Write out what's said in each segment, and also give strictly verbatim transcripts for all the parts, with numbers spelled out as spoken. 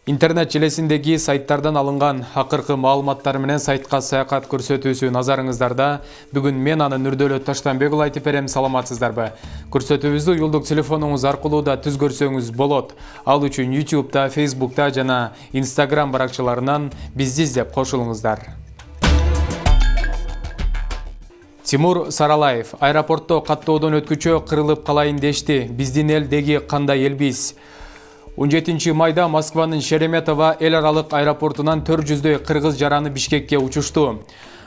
Интернет желесиндеги сайттардан алынган акыркы маалыматтар менен сайтка саякат көрсөтүүсү назарыңыздарда. Бүгүн мен аны Нурдөлөт Таштанбек уулу айтып берем, саламатсыздарбы? Көрсөтүүбүздү уюлдук телефонуңуз аркылуу да түз көрсөңүз болот. Ал үчүн YouTube'да, Facebook'та жана Instagram баракчаларынан бизди издеп кошулуңуздар. Тимур Саралаев аэропортто каттоодон өткүчө кырылып калайын дешти. Биздин элдеги кандай элбиз? он жетинчи майда Москванын Шереметово эл аралык аэропортунан төрт жүздөй кыргыз жараны Бишкекке учушту.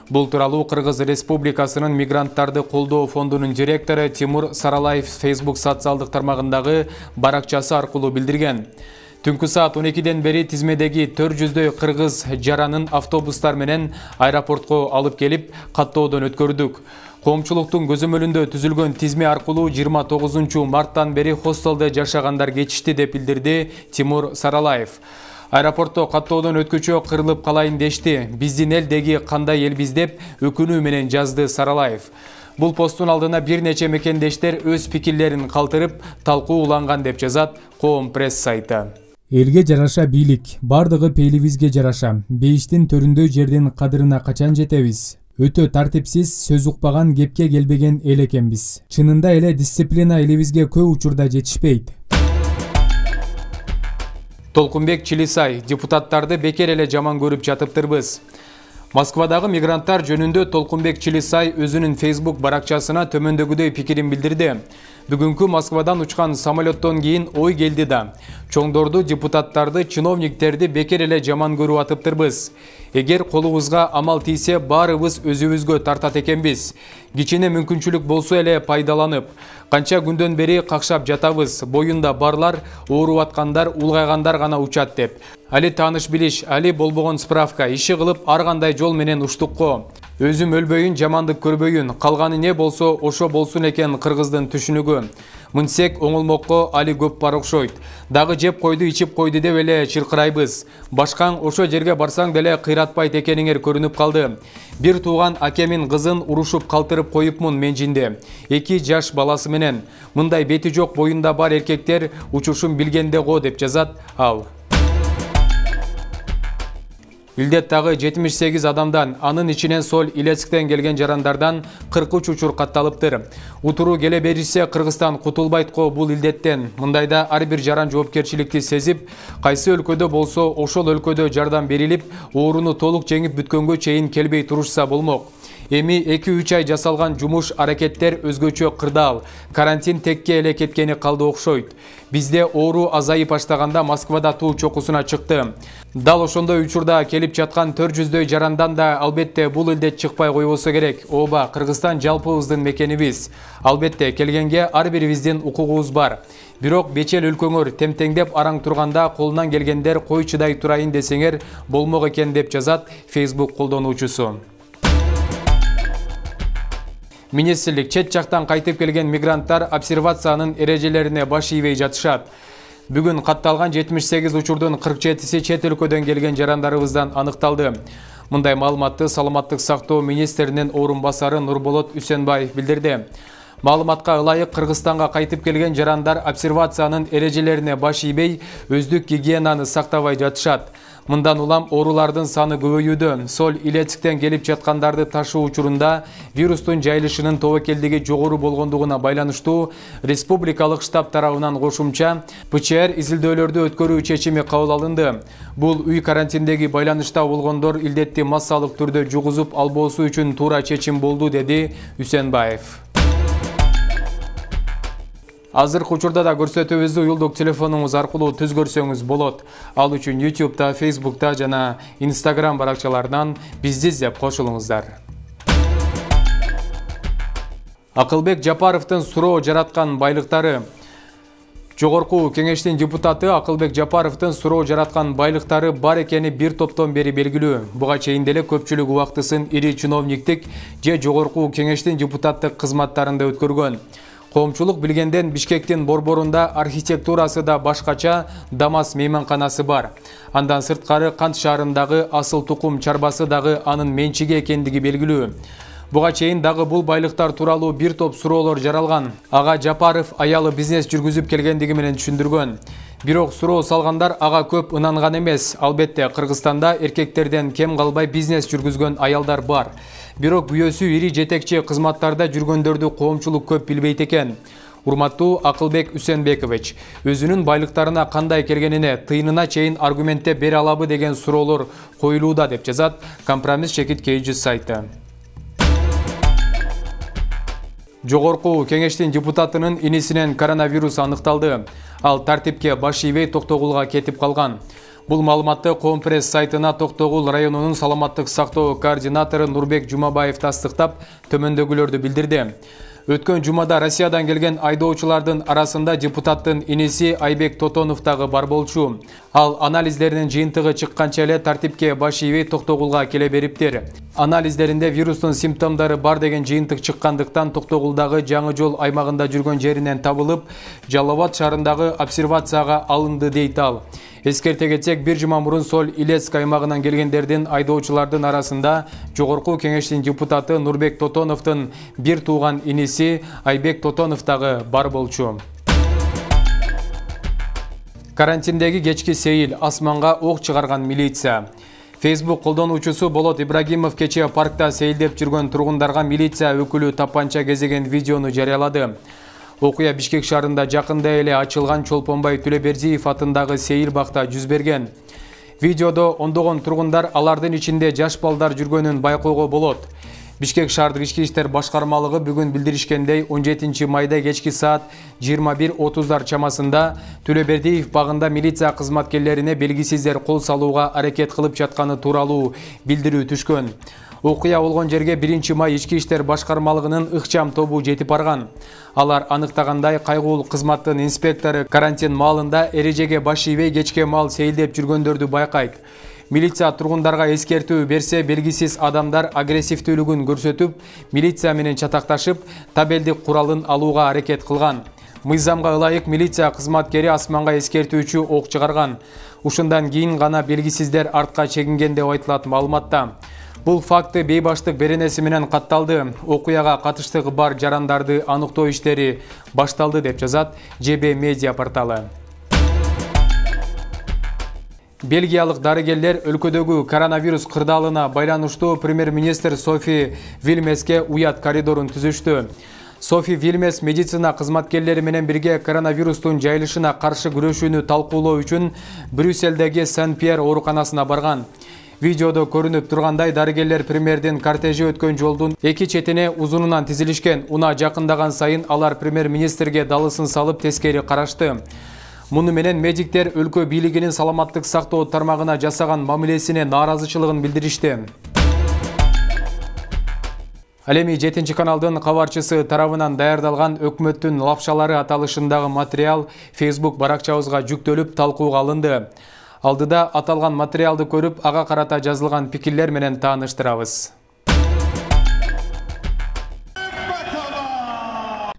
Бул тууралуу Кыргыз Республикасынын мигранттарды колдоо фондунун директору Тимур Саралаев Facebook социалдык тармагындагы баракчасы аркылуу билдирген. Түнкү саат он экиден бери тизмедеги төрт жүздөй кыргыз жаранын автобустар менен аэропортко алып келип, каттоодон өткөрдүк. Коомчулуктун көзөмөлүндө түзүлгөн тизме аркылуу жыйырма тогузунчу марттан бери хостелде жашагандар кетишти деп билдирди Тимур Саралаев. Аэропортто каттоодон өткүчө кырылып калайын дешти. Биздин элдеги кандай элбиз деп өкүнүү менен жазды Саралаев. Бул посттун алдына бир нече мекендештер өз пикирлерин калтырып, талкуу уланган деп жазат Коом пресс сайты. Элге жараша бийлик, бардыгы пейилибизге жараша. Бейиштин төрүндөй жердин кадырына качан жетебиз? Өтө тартипсиз, сөз укпаган, кепке келбеген эл экенбиз. Чынында эле дисциплина элибизге көп учурда жетишпейт. Толкунбек Чилисай: депутаттарды бекер эле жаман көрүп жатыптырбыз. Москвадагы мигранттар жөнүндө Толкунбек Чилисай өзүнүн Facebook баракчасына төмөндөгүдөй пикирин билдирди. Бүгүнкү Москвадан учкан самолеттон кийин ой келди да. Чоңдорду, депутаттарды, чиновниктерди бекер эле жаман көрүп атыптырбыз. Эгер колубузга амал тийсе, баарыбыз өзүбүзгө тартат экенбиз. Кичине мүмкүнчүлүк болсо эле пайдаланып, канча күндөн бери какшап жатабыз. Боюнда барлар, ооруп аткандар, улгайгандар гана учат деп. Али тааныш билиш, али болбогон справка, иши кылып ар кандай жол менен уштукко. Өзүм өлбөйүн, жамандык көрбөйүн, калганы не болсо ошо болсун экен кыргыздын түшүнүгү. Мынсек оңолмокко али көп бар окшойт. Дагы жеп койду, ичип койду деп эле чыркырайбыз. Башкаң ошо жерге барсаң деле кыйратпайт экениңер көрүнүп калды. Бир тууган акемин кызын урушуп калтырып коюпмун мен жинде. Эки жаш баласы менен. Мындай бети жок, боюнда бар эркектер учушун билгенде го деп жазат ал. Илдеттагы жетимиш сегиз адамдан, анын ичинен Соль Илецктен келген жарандардан кырк үч учур катталыптыр. Утуруу келе беришсе Кыргызстан кутулбайт го бул илдеттен. Мындайда ар бир жаран жоопкерчиликти сезип, кайсы өлкөдө болсо ошол өлкөдө жардам берилип, ооруну толук жеңип бүткөнгө чейин келбей турушса болмок. Эми эки үч ай жасалган жумуш, аракеттер өзгөчө кырдаал. Карантин текке эле кеткени калды окшойт. Бизде оору азайып баштаганда Москвада туу чокусуна чыкты. Дал ошондой учурда келип жаткан төрт жүздөй жарандан да албетте бул илдет чыкпай койбосо керек. Ооба, Кыргызстан жалпыбыздын мекенибиз. Албетте келгенге ар бирибиздин укугубуз бар. Бирок бечел өлкөңөр темтеңдеп араң турганда колунан келгендер кой чыдай турайын десеңер болмок экен деп жазат Facebook колдонуучусу. Министрлик: чет жактан кайтып келген мигранттар обсервациянын эрежелерине баш ийбей жатышат. Бүгүн катталган жетимиш сегиз учурдун кырк жетиси чет өлкөдөн келген жарандарыбыздан аныкталды. Мындай маалыматты Саламаттык сактоо министринин орун басары Нурболот Үсенбаев билдирди. Маалыматка ылайык, Кыргызстанга кайтып келген жарандар обсервациянын эрежелерине баш ийбей, өздүк гигиенаны сактабай жатышат. Мындан улам оорулардын саны көбөйүүдө. Соль Илецктен келип жаткандарды ташуу учурунда вирустун жайылышынын тобокелдиги жогору болгондугуна байланыштуу республикалык штаб тарабынан кошумча ПЧР изилдөөлөрдү өткөрүү чечими кабыл алынды. Бул үй карантиндеги байланышта болгондор илдетти массалык түрдө жугузуп албоосу үчүн туура чечим болду, деди Үсенбаев. Азыркы учурда да көрсөтүүбүздү уюлдук телефонуңуз аркылуу түз көрсөңүз болот. Ал үчүн YouTube'да, Facebook'та жана Instagram баракчаларынан бизди издеп кошулуңуздар. Акылбек Жапаровдун суроо жараткан байлыктары. Жогорку кеңештин депутаты Акылбек Жапаровдун суроо жараткан байлыктары бар экени бир топтон бери белгилүү. Буга чейин деле көпчүлүк убактысын ири чиновниктик же жогорку кеңештин депутаттык кызматтарында өткөргөн. Коомчулук билгенден Бишкектин борборунда архитектурасы да башкача Дамас мейманканасы бар. Андан сырткары Кант шаарындагы Асыл Тукум чарбасы дагы анын менчиги экендиги белгилүү. Буга чейин дагы бул байлыктар тууралуу бир топ суроолор жаралган. Ага Жапаров аялы бизнес жүргүзүп келгендиги менен түшүндүргөн. Бирок суроо салгандар ага көп ынанган эмес. Албетте, Кыргызстанда эркектерден кем калбай бизнес жүргүзгөн аялдар бар. Бирок күйөөсү ири жетекчи кызматтарда жүргөндөрдү коомчулук көп билбейт экен. Урматтуу Акылбек Үсенбекович, өзүнүн байлыктарына кандай келгенине тыйынына чейин аргументтеп бере алабы деген суроолор коюлууда деп жазат Компромисс Чекит Кейджи сайты. Жогорку кеңештин депутатынын инисинен коронавирус аныкталды. Ал тартипке баш ийбей Токтогулга кетип калган. Бул маалыматты Компресс сайтына Токтогул районунун саламаттык сактоо координатору Нурбек Жумабаев тастыктап, төмөндөгүлөрдү билдирди. Өткөн жумада Россиядан келген айдоочулардын арасында депутаттын иниси Айбек Тотонов дагы бар болчу. Ал анализдеринин жыйынтыгы чыкканча эле тартипке баш ийбей Токтогулга келе бериптир. Анализдеринде вирустун симптомдору бар деген жыйынтык чыккандыктан Токтогулдагы Жаңы жол аймагында жүргөн жеринен табылып, Жалал Абад шаарындагы обсервацияга алынды дейт ал. Эскерте кетсек, бир жума мурун Соль Илецк аймагынан келгендердин айдоочулардын арасында жогорку кеңештин депутаты Нурбек Тотоновдун бир тууган иниси Айбек Тотонов дагы бар болчу. Карантиндеги кечки сейил, асманга ок чыгарган милиция. Facebook колдонуучусу Болот Ибрагимов кече паркта сейилдеп жүргөн тургундарга милиция өкүлү тапанча кезеген видеону жарыялады. Окуя Бишкек шаарында жакында эле ачылган Чолпонбай Төлөбердиев атындагы сейил бакта жүз берген. Видеодо ондогон тургундар алардын ичинде жаш балдар жүргөнүн байкоого болот. Бишкек шаардык ички иштер башкармалыгы бүгүн билдиришкендей, он жетинчи майда кечки саат жыйырма бир отуздар чамасында Төлөбердиев багында милиция кызматкерлерине белгисиздер кол салууга аракет кылып жатканы тууралуу билдирүү түшкөн. Окуя болгон жерге биринчи май ички иштер башкармалыгынын ыкчам тобу жетип барган. Алар аныктагандай, кайгуулук кызматтын инспектору карантин маалында эрежеге баш ийбей кечке маал сейилдеп жүргөндөрдү байкайт. Милиция тургундарга эскертүү берсе, белгисиз адамдар агрессивдүүлүгүн көрсөтүп, милиция менен чатакташып, табелдик куралын алууга аракет кылган. Мыйзамга ылайык милиция кызматкери асманга эскертүүчү ок чыгарган. Ушундан кийин гана белгисиздер артка чегинген деп айтылат маалыматта. Бул факты бейбаштык беренеси менен катталды. Окуяга катыштыгы бар жарандарды аныктоо иштери башталды деп жазат Ж Б медиа порталы. Бельгиялык дарыгерлер өлкөдөгү коронавирус кырдаалына байланыштуу премьер-министр Софи Вильмеске уят коридорун түзүштү. Софи Вильмес медицина кызматкерлери менен бирге коронавирустун жайылышына каршы күрөшүүнү талкуулоо үчүн Брюсселдеги Сен-Пьер ооруканасына барган. Видеодо көрүнүп тургандай, дарыгерлер премьердин кортежи өткөн жолдун эки четине узунунан тизилишкен. Уна жакындаган сайын алар премьер-министрге далысын салып тескери карашты. Муну менен медиктер өлкө бийлигинин саламаттык сактоо тармагына жасаган мамилесине нааразычылыгын билдиришти. Ал эми жетинчи каналдын кабарчысы тарабынан даярдалган өкмөттүн лапшалары аталышындагы материал Facebook баракчабызга жүктөлүп талкууга алынды. Алдыда аталган материалды көрүп, ага карата жазылган пикирлер менен тааныштырабыз.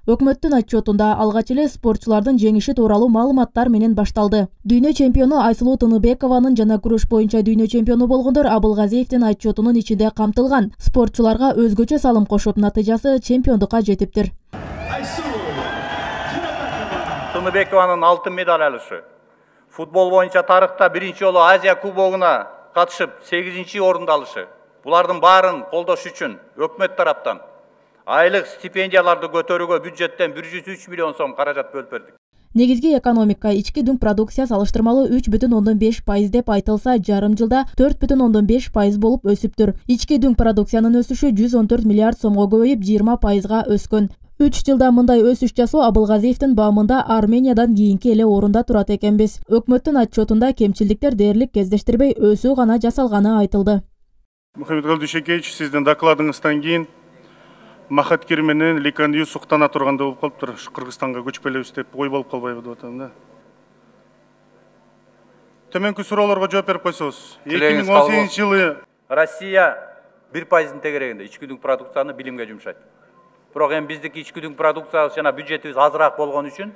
Өкмөттүн отчетунда алгач эле спортчулардын жеңиши тууралуу маалыматтар менен башталды. Дүйнө чемпиону Айсулуу Тыныбекованын жана күрөш боюнча дүйнө чемпиону болгондор Абылгазиевдин отчетунун ичинде камтылган. Спортчуларга өзгөчө салым кошуп, натыйжасы чемпиондукка жетиптир. Тыныбекованын алтын медаль алышы. Футбол боюнча тарыхта биринчи жолу Азия кубогуна катышып сегизинчи орунду алышы. Булардын баарын колдош үчүн өкмөт тараптан айлык стипендияларды көтөрүүгө бюджеттен бир жүз үч миллион сом каражат бөлүп бердик. Негизги экономика ички дүң продукция салыштырмалуу үч бүтүн ондон беш пайыз деп айтылса, жарым жылда төрт бүтүн ондон беш пайыз болуп өсүптүр. Ички дүң продукциянын өсүшү жүз он төрт миллиард сомго көбөйүп, жыйырма пайызга өскөн. үч жылда мындай өсүш жасоо Абылгазиевдин баамында Армениядан кийинки эле орунда турат экенбиз. Өкмөттүн отчетунда кемчилдиктер дээрлик кездештирбей өсүү гана жасалганы айтылды. Мухаммед Дүйшекевич, сиздин докладыңыздан кийин Махаткир менен Ликандию суктана турганда болуп калыптыр. Кыргызстанга көчүп келебиз деп ой болуп калбайбы деп атам да. Төмөнкү суроолорго жооп берип койсоңуз. эки миң он сегизинчи жылы Россия бир пайыздын тегерегинде ички дүң продукцияны билимге жумшайт. Бирок эми биздики ички дүң продукциябыз жана бюджетибиз азыраак болгон үчүн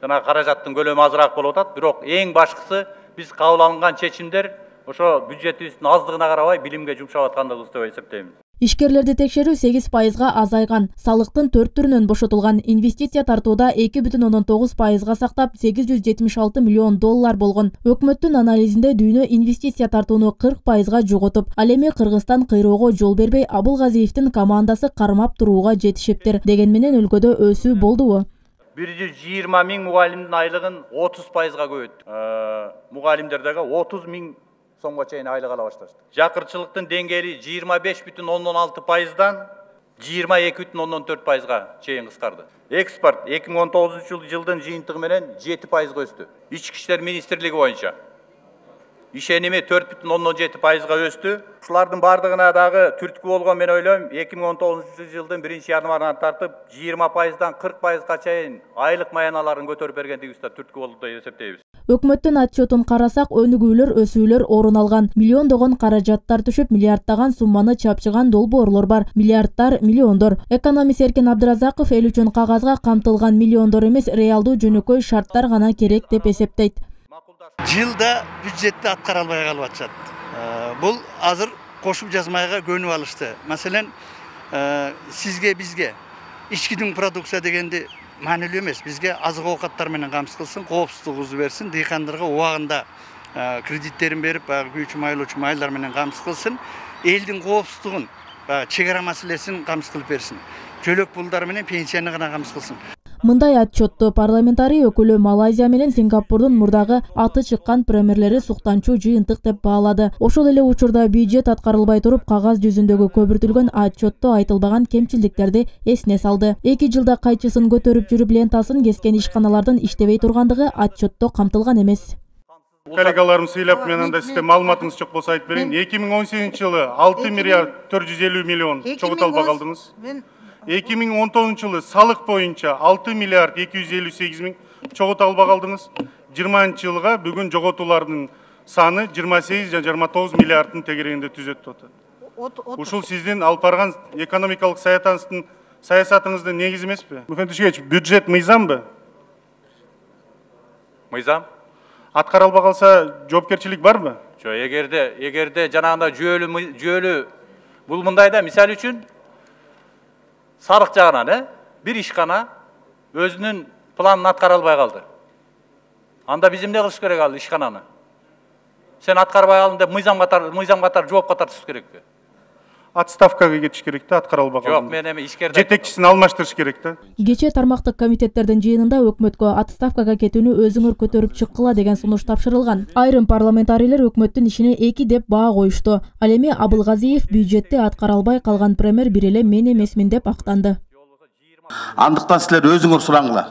жана каражаттын көлөмү азыраак болуп атат. Бирок эң башкысы биз кабыл алынган чечимдер ошо бюджетибиздин аздыгына карабай билимге жумшап аткандыгыбыз деп эсептейм. Ишкерлерди текшерүү сегиз пайызга азайган, салыктын төрт түрүнөн бошотулган, инвестиция тартууда эки бүтүн ондон тогуз пайызга сактап сегиз жүз жетимиш алты миллион доллар болгон. Өкмөттүн анализинде дүйнө инвестиция тартууну кырк пайызга жоготуп, ал эми Кыргызстан кыйроого жол бербей, Абылгазиевдин командасы кармап турууга жетишептир. Деген менен өлкөдө өсүү болдубу? бир жүз жыйырма миң мугалимдин айлыгын отуз пайызга көбөйттүк. Мугалимдердеги отуз миң сомго чейин айлык ала башташты. Жакырчылыктын деңгээли жыйырма беш бүтүн ондон алты пайыздан жыйырма эки бүтүн ондон төрт пайызга чейин кыскарды. Экспорт эки миң он тогузунчу жылдын жыйынтыгы менен жети пайызга өстү. Ички иштер министрлиги боюнча ишеними төрт бүтүн ондон жети пайызга өстү. Ушулардын бардыгына дагы түрткү болгон мен ойлойм, эки миң он тогузунчу жылдын биринчи январынан тартып жыйырма пайыздан кырк пайызга чейин айлык маяналарын көтөрүп бергендигибиз да түрткү болду деп эсептейбиз. Өкмөттүн отчетун карасак, өнүгүүлөр, өсүүлөр орун алган. Миллиондогон каражаттар түшүп, миллиарддаган сумманы чапчыган долбоорлор бар. Миллиарддар, миллиондор. Экономист Эркен Абдыразаков эл үчүн кагазга камтылган миллиондор эмес, реалдуу жөнөкөй шарттар гана керек деп эсептейт. Жылда бюджетти аткара албай калып атышат. Бул азыр кошуп жазмайга көнүп алышты. Маселен, сизге, бизге ички дүң продукция дегенди маанилүү эмес. Бизге азык оокаттар менен камсыз кылсын, коопсуздугубузду берсин, дыйкандарга убагында кредиттерин берип, күйүүчү майлоочу майлар менен камсыз кылсын, элдин коопсуздугун, чек ара маселесин камсыз кылып берсин. Жөлөк пулдар менен пенсияны гана камсыз кылсын. Мындай отчетту парламентарий өкүлү Малайзия менен Сингапурдун мурдагы аты чыккан премьерлери суктанчуу жыйынтык деп баалады. Ошол эле учурда бюджет аткарылбай туруп, кагаз жүзүндөгү көбүртүлгөн отчетто айтылбаган кемчилдиктерди эсине салды. Эки жылда кайчысын көтөрүп жүрүп лентасын кескен ишканалардын иштебей тургандыгы отчетто камтылган эмес. Коллегаларым сыйлап, мен анда сизде маалыматыңыз жок болсо айтып берейин. эки миң он сегизинчи жылы алты миллиард төрт жүз элүү миллион чогултуп албай калдыңыз. эки миң он тогузунчу жылы салык боюнча алты миллиард эки жүз элүү сегиз миң чогултуп албай калдыңыз. жыйырманчы жылга бүгүн жоготуулардын саны жыйырма сегиз жана жыйырма тогуз миллиарддын тегерегинде түзөтүп атат. Ушул сиздин алып барган экономикалык саясатыңыздын саясатыңыздын негизи эмеспи? Мухаммед Тушкевич, бюджет мыйзамбы? Мыйзам. Аткара албай калса жоопкерчилик барбы? Жок, эгерде эгерде жанагындай жүйөлүү жүйөлүү бул мындайда, мисалы үчүн сарык жагынан, э, бир ишкана өзүнүн планын аткара албай калды. Анда биз эмне кылыш керек ал ишкананы? Сен аткарбай калдың деп мыйзам катар, мыйзам катар жоопко тартыш керекпи? Отставкага кетиш керек да, аткара албай калды. Жок, мен эми ишкерде жетекчисин алмаштырыш керек да. Кечээ тармактык комитеттердин жыйынында өкмөткө отставкага кетүүнү өзүңөр көтөрүп чыккыла деген сунуш тапшырылган. Айрым парламентарийлер өкмөттүн ишине эки деп баа коюшту. Ал эми Абылгазиев бюджетти аткара албай калган премьер бир эле мен эмесмин деп актанды. Андыктан силер өзүңөр сураңыла.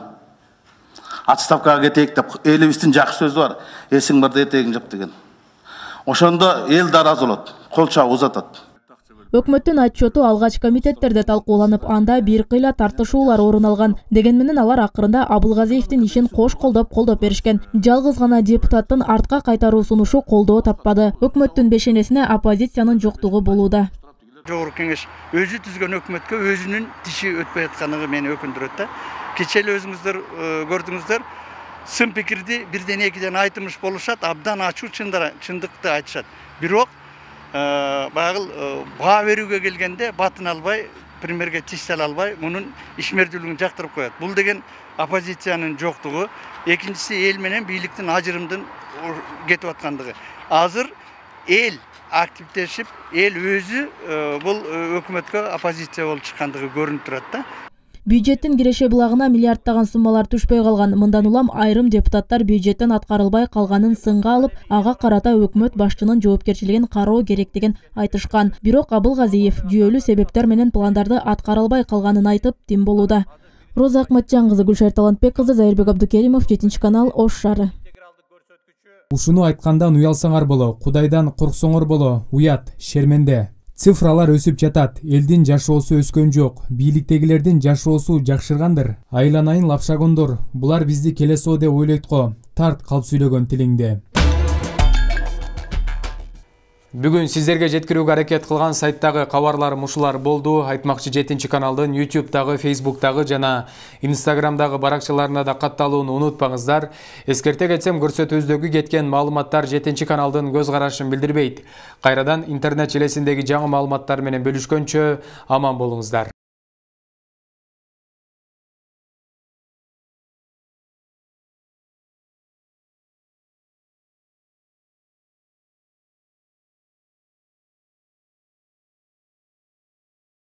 Отставкага кетейик деп элибиздин жакшы сөзү бар. Эсиң барда этегиң жап деген. Ошондо эл даразы болот, кол чабып узатат. Өкмөттүн отчету алгач комитеттерде талкууланып, анда бир кыйла тартышуулар орун алган. Деген менен алар акырында Абылгазиевдин ишин кош колдоп колдоп беришкен. Жалгыз гана депутаттын артка кайтаруу сунушу колдоо таппады. Өкмөттүн бешенесине оппозициянын жоктугу болууда. Жогорку кеңеш өзү түзгөн өкмөткө өзүнүн тиши өтпөй аткандыгы мени өкүндүрөт да. Кечээ эле өзүңүздөр көрдүңүздөр, сын пикирди бирден экиден айтымыш болушат, абдан ачуу чындыкты айтышат. Бирок багыл баа берүүгө келгенде батын албай, премьерге тиш сала албай, мунун ишмердүүлүгүн жактырып коет. Бул деген оппозициянын жоктугу, экинчиси эл менен бийликтин ажырымдын кетип аткандыгы. Азыр эл активдешип, эл өзү бул өкмөткө оппозиция болуп чыккандыгы көрүнүп турат да. Бюджеттин киреше булагына миллиарддаган суммалар түшпөй калган. Мындан улам айрым депутаттар бюджеттен аткарылбай калганын сынга алып, ага карата өкмөт башчынын жоопкерчилигин кароо керектигин айтышкан. Бирок Абылгазиев жүйөлүү себептер менен пландарды аткара албай калганын айтып, тим болууда. Роза Акматжан кызы, Гүлшар Талантбек кызы, Зайырбек Абдукеримов, жетинчи канал, Ош шаары. Ушуну айткандан уялсаңар боло, Кудайдан корксоңор боло, уят, шерменде. Цифралар өсүп жатат, элдин жашоосу өскөн жок, бийликтегилердин жашоосу жакшыргандыр. Айланайын лапшагондор, булар бизди келесоо деп ойлойт го, тарт калп сүйлөгөн тилиңде. Бүгүн сиздерге жеткирүүгө аракет кылган сайттагы кабарларым ушулар болду. Айтмакчы жетинчи каналдын ютубтагы, фейсбуктагы жана инстаграмдагы баракчаларына да катталууну унутпаңыздар. Эскерте кетсем, көрсөтүүбүздөгү кеткен маалыматтар жетинчи каналдын көз карашын билдирбейт. Кайрадан интернет желесиндеги жаңы маалыматтар менен бөлүшкөнчө аман болуңуздар.